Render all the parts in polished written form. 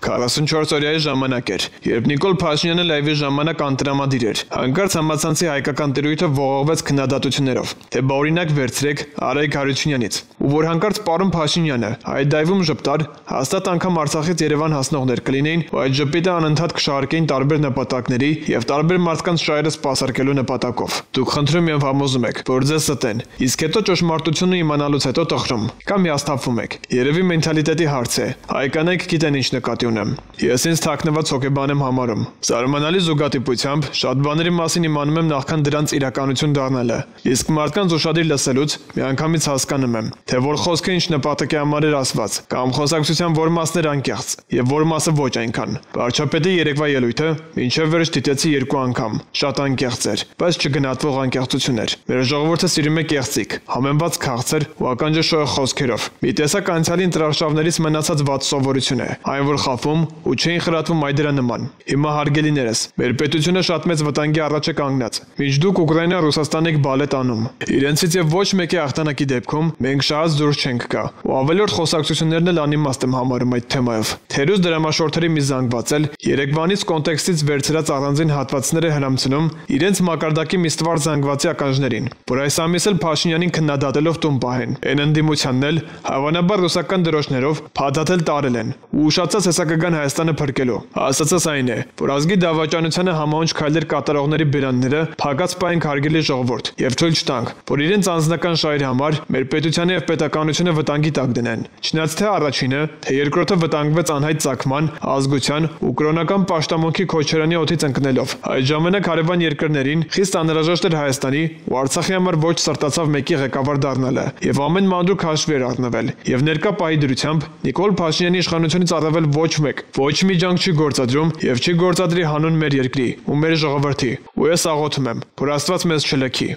44-օրյայի ժամանակ էր, երբ Նիկոլ Փաշինյանը լայվի ժամանակ անտրամադիր էր։ Հանկարծ համացանցի հայկական տիրույթը ողողվեց քննադատություններով, թե բա օրինակ վերցրեք Արայիկ Հարությունյանից, ու որ հանկարծ պարոն Փաշինյանը այդ դայվում ժպտար, հաստատ անգամ Արցախից Երևան հասնողներ կլինեին, ու այդ ժպիտը անընդհատ կշահարկեին տարբեր նպատակների եւ տարբեր մարդկանց շահերը սպասարկելու նպատակով։ Դուք խնդրում եւ համոզում եք, որ ձեզ ստեն, իսկ հետո ճշմարտությունը իմանալուց հետո տխրում կամ հիասթափվում եք։ Երևի մենթալիտետի հարց է։ Հայկանայք գիտեն ինչ նկատի ունեմ։ Ես ինձ թաքնված հոգեբան եմ համարում։ Զարմանալի զուգադիպությամբ շատ բաների մասին իմանում եմ նախքան դրանց իրականություն դառնալը։ Իսկ մարդկանց ուշադիր լսելուց միանգամից հասկանում եմ, թե որ խոսքը ինչ նպատակի համար էր ասված, կամ խոսակցության որ մասն էր անկեղծ, եւ որ մասը ոչ այնքան։ Վարչապետի երեկվա ելույթը մինչև վերջ դիտեցի 2 անգամ։ Շատ անկեղծ էր, բայց չգնահատվող անկեղծություն էր։ Մեր ժողովուրդը սիրում է կեղծիք, համեմված քաղցր ու ականջաշոյ խոսքերով։ Մի տեսակ անցյալի ընտրարշավներից մնացած վատ սովորություն է, այն որ խափում ու չէին խրատվում այդ դրա նման։ Հիմա հարգելիներս, մեր պետությունը շատ մեծ վտանգի առաջ է կանգնած։ Մինչ դուք Ուկրաինա-Ռուսաստան եք բալետ անում, իրենցից եւ ոչ մեկի հաղթանակի դեպքում մենք շահած դուրս չենք գա։ Ու ավելորդ խոսակցություններն էլ անիմաստ եմ համարում այդ թեմայով։ Թերուս դրամաշորթերի մի զանգված էլ Երևանից կոնտեքստից վերցրած առանձին հատվածներ է հրամցնում իրենց մակարդակի մի ստվար զանգվածի ականջներին, որ այս ամիս էլ Փաշինյանին քննադատելով տուն պահեն։ Այն ընդդիմությանն էլ հավանաբար ռուսական դրոշներով փաթաթել տարել են ու ուշացած հեսակական Հայաստանը փրկելու։ Ասածս այն է, որ ազգի դավաճանությանը համաունչ քայլեր կատարողների բերանները փակած պահենք հարգելի ժողովուրդ եւ թույլ չտանք, որ իրենց անձնական շահերի համար մեր պետությանը եւ պետականությունը վտանգի տակ դնեն։ Չնայած թե առաջինը, թե երկրորդը վտանգվեց անհայտ ծագման, ազգության ու կրոնական պաշտամունքի քոչարանի օդից ընկնելով։ Այդ ժամանակ հարևան երկրներին խիստ անհրաժեշտ էր Հայաստանի ու Արցախի համար ոչ սրտացավ մեկի ղեկավար դառնալը եւ ամեն մանրուք հաշվի էր առնվել։ Եվ ներկա պահի դրությամբ Նիկոլ Փաշինյանի իշխանությունից առավել ոչ մեկ, ոչ մի ջանք չի գործադրում եւ չի գործադրի հանուն մեր երկրի ու մեր ժողովրդի։ Ու ես աղոթում եմ, որ Աստված մեզ չլքի։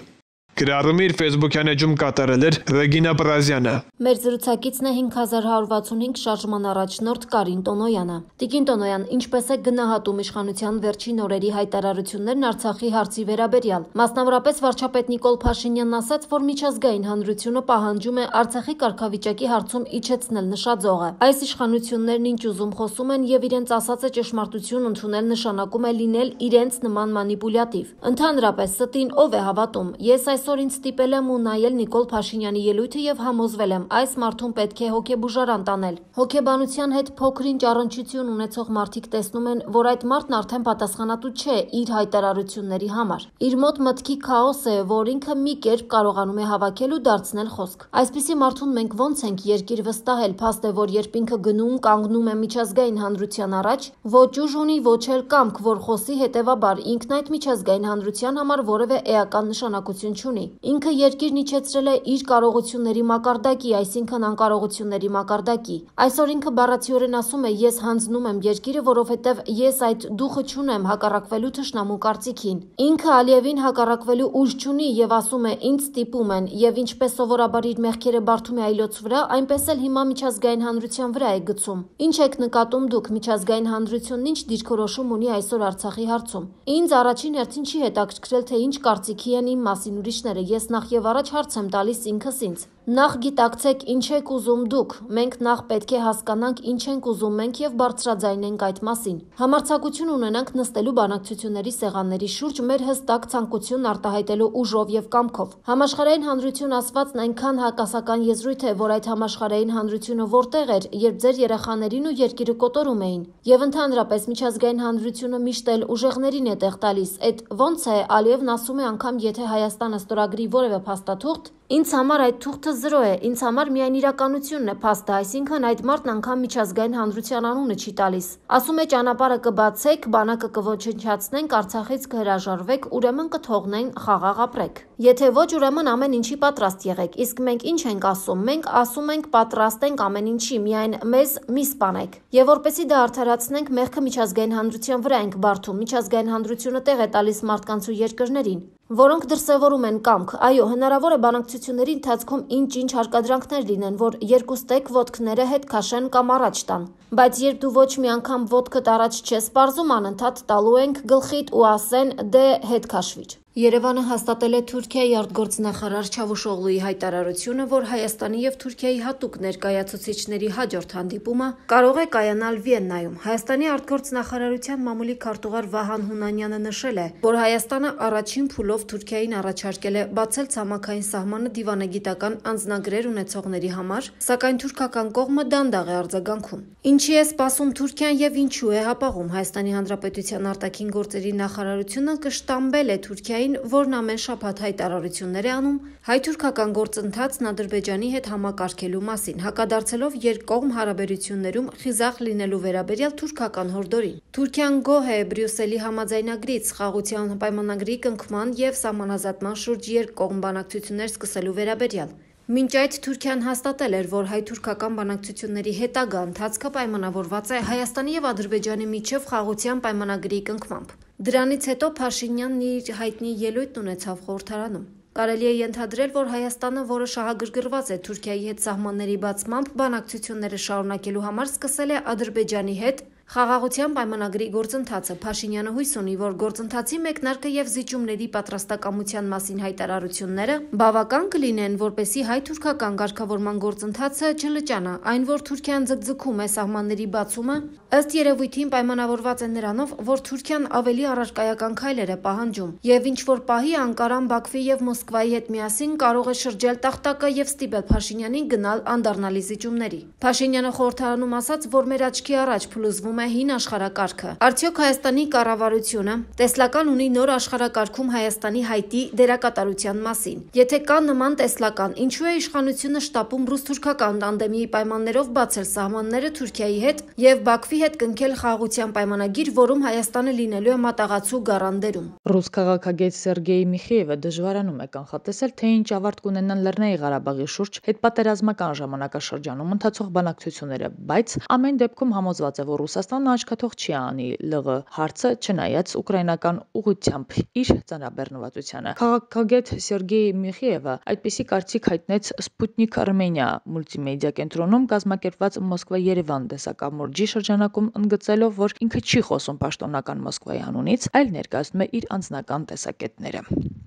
Գրառումը իր Facebook-յան էջում կատարել էր Ռեգինա Պրազյանը։ Մեր զրուցակիցն է 5165 շարժման առաջնորդ Կարին Տոնոյանը։ Տիկին Տոնոյան, ինչպես է գնահատում իշխանության վերջին օրերի հայտարարություններն Արցախի հարցի վերաբերյալ։ Մասնավորապես վարչապետ Նիկոլ Փաշինյանն ասաց, որ միջազգային հանրությունը պահանջում է Արցախի կարգավիճակի հարցում իջեցնել նշաձողը։ Այս իշխանություններն ինչ ուզում խոսում են եւ իրենց ասածը ճշմարտություն ընդունել նշանակում է լինել իրենց նման մանիպուլյատիվ։ Ընդհանրապես ստին ով է հավատում։ Ես այսօր ինձ ստիպել եմ ու նայել Նիկոլ Փաշինյանի ելույթը եւ համոզվել եմ, այս մարդուն պետք է հոգեբուժարան տանել։ Հոգեբանության հետ փոքրինչ առնչություն ունեցող մարդիկ տեսնում են, որ այդ մարդն արդեն պատասխանատու չէ իր հայտարարությունների համար։ Իր մոտ մտքի քաոս է, որ ինքը մի կերպ կարողանում է հավաքել ու դարձնել խոսք։ Այսպիսի մարդուն մենք ոնց ենք երկիր վստահել, փաստ է, որ երբ ինքը գնում կանգնում է միջազգային հանրության առաջ, ոչ ուժ ունի, ոչ էլ կամք, որ խոսի, հետեւաբար ինքն այդ միջազգային հանրության համար որևէ էական նշանակություն չունի։ Ինքը երկիրն իջեցրել է իր կարողությունների մակարդակի, այսինքն անկարողությունների մակարդակի։ Այսօր ինքը բառացիորեն ասում է ես հանձնում եմ երկիրը, որովհետև ես այդ դուխը չունեմ հակառակվելու թշնամու կարծիքին։ Ինքը Ալիևին հակառակվելու ուժ չունի եւ ասում է ինձ ստիպում են եւ ինչպես սովորաբար իր մեղքերը բարդում է այլոց վրա, այնպես էլ հիմա միջազգային հանրության վրա է գցում։ Ինչ եք նկատում դուք միջազգային հանրությունն ինչ դիրքորոշում ունի այսօր Արցախի հարցում։ Ինձ առաջին հերթին չի հետաքրքրել թե ինչ կարծիքի են իմ մասին ուրիշները, ես նախ եւ առաջ հարց եմ տալիս ինքս ինձ։ Նախ գիտակցեք ինչ եք ուզում դուք, մենք նախ պետք է հասկանանք ինչ ենք ուզում մենք եւ բարձրաձայնենք այդ մասին։ Համարձակություն ունենանք նստելու բանակցությունների սեղանների շուրջ մեր հստակ ցանկությունն արտահայտելու ուժով եւ կամքով։ Համաշխարհային հանրություն ասվածն այնքան հակասական եզրույթ է, որ այդ համաշխարհային հանրությունը որտեղ էր, երբ ձեր երեխաներին ու երկիրը կոտորում էին։ Եվ ընդհանրապես միջազգային հանրությունը միշտ էլ ուժեղներին է տեղ տալիս։ Այդ ոնց է Ալիևն ասում է անգամ եթե Հայաստանը ստորագրի որևէ փաստաթուղթ, ինձ համար այդ թուղթը զրո է, ինձ համար միայն իրականությունն է փաստը, այսինքն այդ մարդն անգամ միջազգային հանրության անունը չի տալիս։ Ասում է ճանապարհը կբացեք, բանակը կոչնչացնենք, Արցախից կհրաժարվեք, ուրեմն կթողնեն խաղաղ ապրեք։ Եթե ոչ, ուրեմն ամեն ինչի պատրաստ եղեք։ Իսկ մենք ինչ ենք ասում։ Մենք ասում ենք պատրաստ ենք ամեն ինչի, միայն մեզ մի սպանեք։ Եվ որպեսզի դա արդարացնենք, մեղքը միջազգային հանրության վրա ենք բարդում։ Միջազգային հանրությունը տեղ է տալիս մարդկանց ու երկրներին, որոնք դրսևորում են կամք։ Այո, հնարավոր է բանակցությունների ընթացքում ինչ-ինչ հարկադրանքներ լինեն, որ երկուստեք ոտքները հետ քաշեն կամ առաջ տան։ Բայց երբ դու ոչ մի անգամ ոտքդ առաջ չես պարզում, անընդհատ տալու ենք գլխիդ ու ասեն դե հետ քաշվիր։ Երևանը հաստատել է Թուրքիայի արտգործնախարար Չավուշօղլուի հայտարարությունը, որ Հայաստանի եւ Թուրքիայի հատուկ ներկայացուցիչների հաջորդ հանդիպումը կարող է կայանալ Վիեննայում։ Հայաստանի արտգործնախարարության մամուլի քարտուղար Վահան Հունանյանը նշել է, որ Հայաստանը առաջին փուլով Թուրքիային առաջարկել է բացել ցամաքային սահմանը դիվանագիտական անձնագրեր ունեցողների համար, սակայն թուրքական կողմը դանդաղ է արձագանքում։ Ինչի է սպասում Թուրքիան եւ ինչու է հապաղում Հայաստանի Հանրապետության արտաքին գործերի նախարարությունը կշտամբել է Թուրքիայի, որն ամեն շաբաթ հայտարարություններ է անում հայ-թուրքական գործընթացն Ադրբեջանի հետ համակարգելու մասին, հակադարձելով երկկողմ հարաբերություններում խիզախ լինելու վերաբերյալ թուրքական հորդորին։ Թուրքիան գոհ է Բրյուսելի համաձայնագրից, խաղաղության պայմանագրի կնքման եւ սահմանազատման շուրջ երկկողմ բանակցություններ սկսելու վերաբերյալ։ Մինչ այդ Թուրքիան հաստատել էր, որ հայ-թուրքական բանակցությունների հետագա ընթացքը պայմանավորված է Հայաստանի եւ Ադրբեջանի միջև խաղաղության պայմանագրի կնքմամբ։ Դրանից հետո Փաշինյանն իր հայտնի ելույթն ունեցավ խորհրդարանում։ Կարելի է ենթադրել, որ Հայաստանը, որը շահագրգռված է Թուրքիայի հետ սահմանների բացմամբ, բանակցությունները շարունակելու համար սկսել է Ադրբեջանի հետ խաղաղության պայմանագրի գործընթացը։ Փաշինյանը հույս ունի, որ գործընթացի մեկնարկը եւ զիջումների պատրաստակամության մասին հայտարարությունները բավական կլինեն, որպեսզի հայ-թուրքական ղեկավարման գործընթացը չլճանա։ Այն, որ Թուրքիան ձգձգում է սահմանների բացումը, ըստ երևույթին պայմանավորված է նրանով, որ Թուրքիան ավելի առարկայական քայլեր է պահանջում եւ ինչ որ պահի Անկարան, Բաքվի եւ Մոսկվայի հետ միասին կարող է շրջել տախտակը եւ ստիպել Փաշինյանին գնալ անդառնալի զիջումների։ Փաշինյանը խորհրդարանում ասաց, որ մեր աչքի առաջ փլուզվում է հին աշխարհակարգը։ Արդյոք Հայաստանի կառավարությունը տեսլական ունի նոր աշխարհակարգում Հայաստանի հայտի դերակատարության մասին։ Եթե կա նման տեսլական, ինչու է իշխանությունը շտապում ռուս-թուրքական տանդեմի պայմաններով բացել սահմանները Թուրքիայի հետ եւ Բաքվի հետ կնքել խաղաղության պայմանագիր, որում Հայաստանը լինելու է մատաղացու գառանդերում։ Ռուս քաղաքագետ Սերգեյ Միխեևը դժվարանում է կանխատեսել, թե ինչ ավարտ կունենան Լեռնային Ղարաբաղի շուրջ հետպատերազմական ժամանակաշրջանում ընթացող բանակցությունները, բայց ամեն դեպքում համոզված է, որ Ռուսաստանը աչքաթող չի անի ԼՂ հարցը, չնայած ուկրաինական ուղղությամբ իր ծանրաբեռնվածությանը։ Քաղաքագետ Սերգեյ Միխեևը այդպիսի կարծիք հայտնեց Սպուտնիկ Արմենիա մուլտիմեդիա կենտրոնում կազմակերպված Մոսկվա-Երևան տեսակամուրջի շրջանակում ընդգծելով, որ ինքը չի խոսում պաշտոնական Մոսկվայի անունից, այլ ներկայացնում է իր անձնական տեսակետները։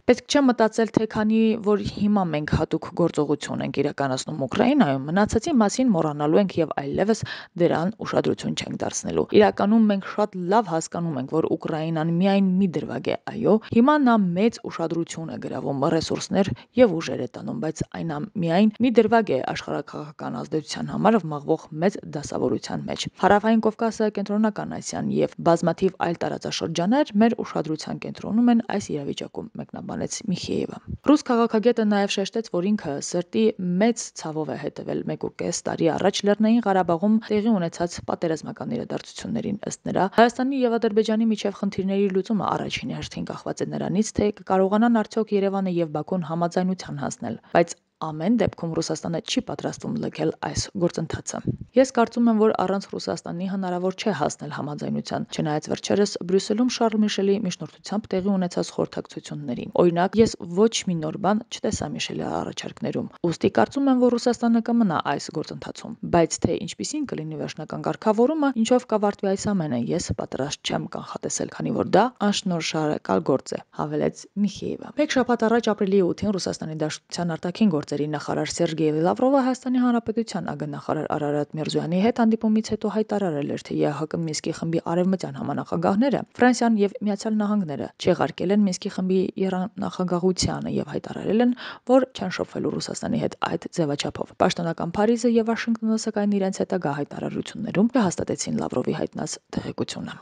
Պետք չէ մտածել, թե քանի որ հիմա մենք հատուկ գործողություն ենք իրականացնում Ուկրաինայում, մնացածի մասին մոռանալու ենք եւ այլևս դրան ուշադրություն չենք դարձնելու։ Իրականում մենք շատ լավ հասկանում ենք, որ Ուկրաինան միայն մի դրվագ է, այո, հիմա նա մեծ ուշադրություն է գրավում, ռեսուրսներ եւ ուժեր է տանում, բայց այն միայն մի դրվագ է աշխարհակաղակական ազդեցության համար մաղվող մեծ դասավորության մեջ։ Հարավային Կովկասը, Կենտրոնական Ասիան եւ բազմաթիվ այլ տարածաշրջաններ մեր ուշադրության կենտրոնում են այս իրավիճակում, մեկնաբանեց Միխեևը։ Ռուս քաղաքագետը նաեւ շեշտեց, որ ինքը սրտի մեծ ցավով է հետևել 1.5 տարի առաջ Լեռնային Ղարաբաղում տեղի ունեցած պատերազմական իրադարձություններին։ Ըստ նրա, Հայաստանի եւ Ադրբեջանի միջև խնդիրների լուծումը առաջին հերթին կախված է նրանից, թե կկարողանան արդյոք Երևանը եւ Բաքուն համաձայնության հասնել, բայց ամեն դեպքում Ռուսաստանը չի պատրաստվում լքել այս գործընթացը։ Ես կարծում եմ, որ առանց Ռուսաստանի հնարավոր չէ հասնել համաձայնության, չնայած վերջերս Բրյուսելում Շարլ Միշելի միջնորդությամբ տեղի ունեցած խորհրդակցություններին։ Օրինակ, ես ոչ մի նոր բան չտեսա Միշելի առաջարկներում։ Ուստի կարծում եմ, որ Ռուսաստանը կմնա այս գործընթացում, բայց թե ինչպիսին կլինի վերջնական կարգավորումը, ինչով կավարտվի այս ամենը, ես պատրաստ չեմ կանխատեսել, քանի որ դա անշնորհշարակալ գործ է, հավելեց Միխեևը։ Մեկ շաբաթ առաջ ապրիլի 8-ին Ռուսաստանի Դաշնության արտաքին գործերի նախարար Սերգեյ Լավրովը Հայաստանի Հանրապետության ԱԳ-նախարար Արարատ Միրզոյանի հետ հանդիպումից հետո հայտարարել էր, թե ԵԱՀԿ Մինսկի խմբի արևմտյան համանախագահները Ֆրանսիան եւ Միացյալ Նահանգները չեղարկել են Մինսկի խմբի եռանախագահությանը եւ հայտարարել են, որ չեն շփվելու Ռուսաստանի հետ այդ ձևաչափով։ Պաշտոնական Փարիզը եւ Վաշինգտոնը սակայն իրենց հետագա հայտարարություններում հաստատեցին Լավրովի հայտնած տեղեկությունը։